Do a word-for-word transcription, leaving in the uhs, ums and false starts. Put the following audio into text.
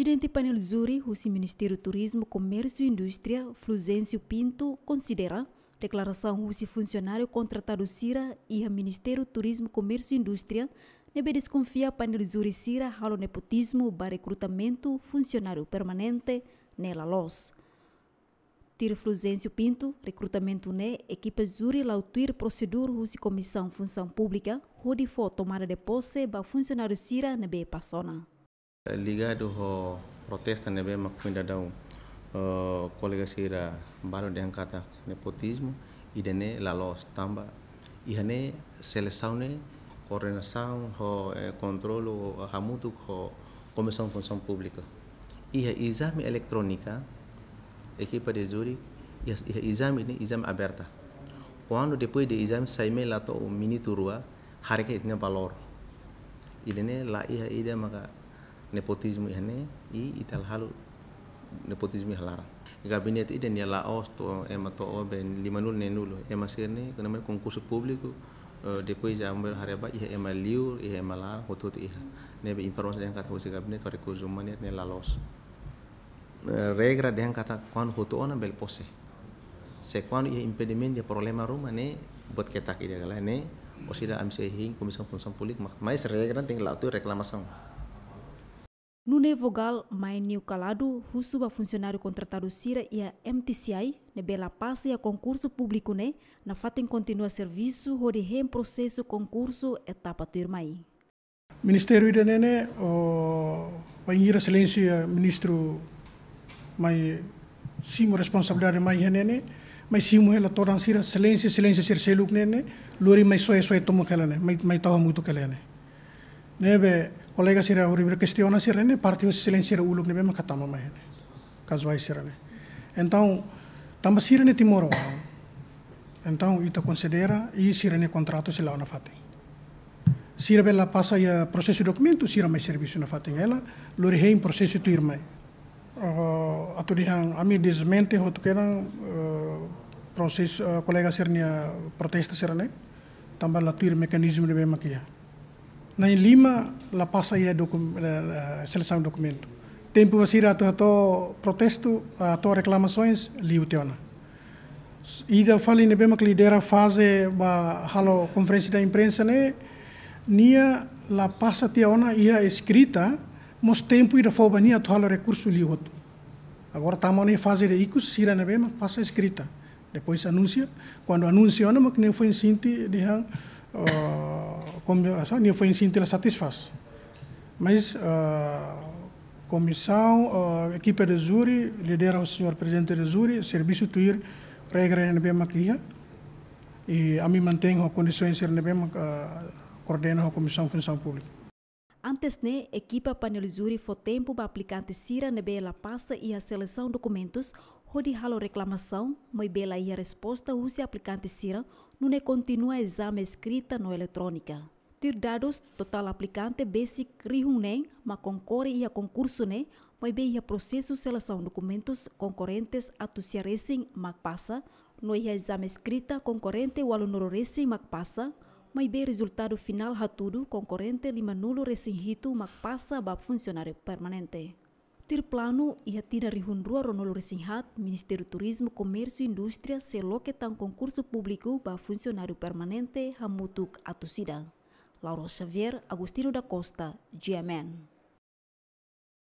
Prezidente Painel Júri husi Ministériu Turizmu, Komérsiu i Indústria, Fulgêncio Pinto, konsidera deklarasaun husi funsionáriu kontratadu sira iha Ministériu Turizmu, Komérsiu i Indústria ne'ebé deskonfia painel júri sira halo nepotizmu ba rekrutamentu funsionáriu permanente ne'e la loos. Tuir Fulgêncio Pinto, rekrutamentu ne'e ekipa júri la'o tuir prosedura husi Komisaun Funsaun Públika hodi fó tomada de pose ba funsionáriu sira ne'ebé pasa ona. Ligadu ho protesta ne'ebé mak foin daudaun, eh, kolega sira balu dehan katak nepotizmu, ida-ne'e la loos tanba iha ne'e selesaun ne'e koordenasaun ho, eh, kontrolu hamutuk ho Komisaun Funsaun Públika. Iha ezame eletrónika, ekipa de júri, iha, iha ezame ne'e ezame aberta. Kuandu depois de ezame sai mai la to'o minutu rua, haree katak ita-nia valór. Ida-ne'e la iha ida maka nepotizmu iha ne'e, i ita la halo nepotizmu iha laran. Gabinete ida-ne'e la loos to'o ema to'o be limanulu neenulu. Ema sira-ne'e, kona-ba konkursu públiku, eh, depois de amber haree ba iha ema liur, iha ema laran, hotu-hotu iha. Ne'ebé informasaun dehan katak husi gabinete rekursus umanus ne'e la loos. Eh, regra dehan katak kuandu hotu ona bele pose. Se kuandu iha impedimentu, iha problema ruma ne'e, buat ketak ida ka lae ne'e, orsida ami sei hein Komisaun Funsaun Públika, ma-, mais regra tenke la'o tuir reklamasaun. Nuneia vogál Mainio Calado husu ba funsionáriu kontratadu sira iha M T C I ne'ebé la pasa iha konkursu públiku ne'e nafatin kontinua servisu hodi hein prosesu konkursu etapa tuirmai. Ministériu ida-ne'e ne'e, o, bainhira Exelénsia Ministru mai simu responsabilidade mai iha ne'e ne'e, mai simu hela todan sira, exelénsia, exelénsia sira seluk ne'e ne'e, lori mai soe, soe tomak hela ne'e, mai, mai tau hamutuk hela ne'e. Ne'ebé kolega sira horibainhira kestiona sira ne'e, parte hosi exelénsia sira uluk ne'ebé maka tama mai iha ne'e. Kazuál sira ne'e. Entaun, tanba sira ne'e timoroan. Entaun, ita konsidera i sira-nia kontratu sei la'o nafatin. Sira bele la pasa iha prosesu dokumentu, sira mai servisu nafatin hela, lori hein prosesu tuirmai. Oh, atu dehan ami desmente hotu kedan, eh, prosesu, eh, kolega sira-nia protesta sira ne'e, tanba la tuir mekanizmu ne'ebé mak iha. Na'in-lima la pasa iha dokum-, eh, eh, selesaun dokumentu. Tempu ba sira atu hato'o protestu, atu reklamasoens, liu tiha ona. Ida fali ne'ebé mak lidera faze ba halo konferénsia imprensa ne'e, nia la pasa tiha ona iha eskrita, mós tempu ida fó ba nia atu halo rekursu liu hotu. Agora tama ona iha faze de ikus, sira ne'ebé mak pasa eskrita. Depois anunsia, kuandu anunsia ona mak nia foin sente dehan, ah, komi-, asa, nia foin sente la satisfás. Mas, ah, komisaun, ah, ekipa de júri, lidera ho señór prezidente de júri, servisu tuir regra ne'ebé mak iha, i ami mantein ho kondisoens sira ne'ebé mak, ah, koordena ho Komisaun Funsaun Públika. Antes ne'e, ekipa painel júri fó tempu ba aplikante sira ne'ebé la pasa iha selesaun dokumentus hodi halo reklamasaun, maibé la iha resposta husi aplikante sira, nune'e kontinua ezame eskrita no eletrónika. Tuir dadus, totál aplikante besik rihun neen mak konkore iha konkursu ne'e, maibé iha prosesu selesaun dokumentus konkorentes atus sia resin mak pasa, no iha ezame eskrita konkorente ualunulu resin mak pasa, maibé rezultadu finál hatudu konkorente limanulu resin hitu mak pasa ba funsionáriu permanente. Tuir planu, iha tinan rihun rua ruanulu resin haat, Ministériu Turizmu, Komérsiu i Indústria sei loke tan konkursu públiku ba funsionáriu permanente hamutuk atus ida. Laura Xavier, Agostinho da Costa, G M N.